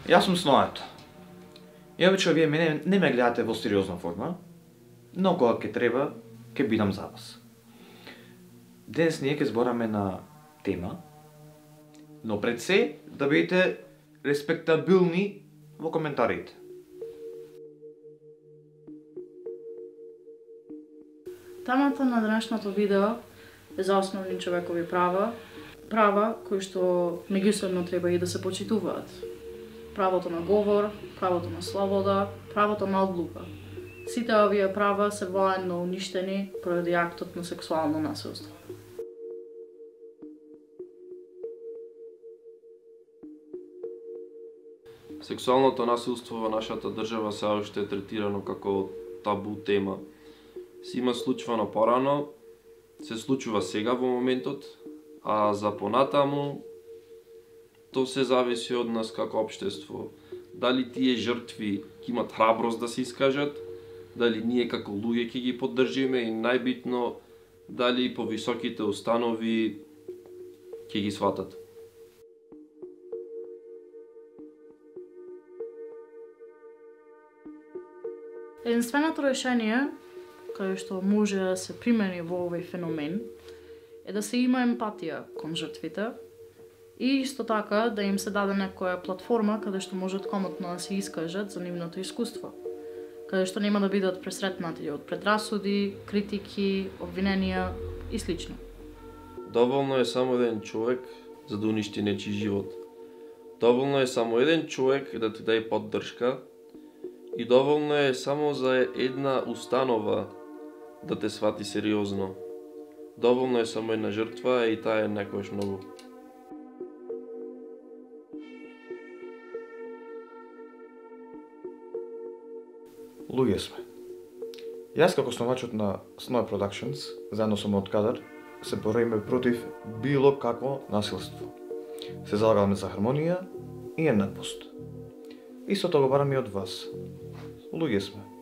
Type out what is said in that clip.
Јас сум Сноето. И обично вие мене не ме гледате во сериозна форма, но кога ќе треба, ќе бидам за вас. Денес ние ќе збораме на тема, но пред се да бидете респектабилни во коментарите. Темата на денешното видео е за основни човекови права кои што меѓусебно треба и да се почитуваат. Правото на говор, правото на слобода, правото на одлука. Сите овие права се военно уништени поради актот на сексуално насилство. Сексуалното насилство во нашата држава се уште е третирано како табу тема. Се има случувано порано, се случува сега во моментот, а за понатаму то се зависи од нас како општество. Дали тие жртви ќе имат храброст да се искажат, дали ние како луѓе ќе ги поддржиме и најбитно дали повисоките установи ќе ги сватат. Единственото решение кое што може да се примени во овој феномен е да се има емпатија кон жртвите и исто така да им се даде некоја платформа каде што можат комотно да се искажат за нивното искуство, каде што нема да бидат пресретнати од предрасуди, критики, обвиненија и слично. Доволно е само еден човек за да уништи нечи живот. Доволно е само еден човек да ти даде поддршка и доволно е само за една установа да те свати сериозно. Доволно е само една жртва и таа е некојаш многу. Луѓе сме. Јас како основачот на Snow Productions, заедно со мојот кадар, се бориме против било какво насилство. Се залагаме за хармонија и еднаквост. Истото го бараме и од вас. Луѓе сме.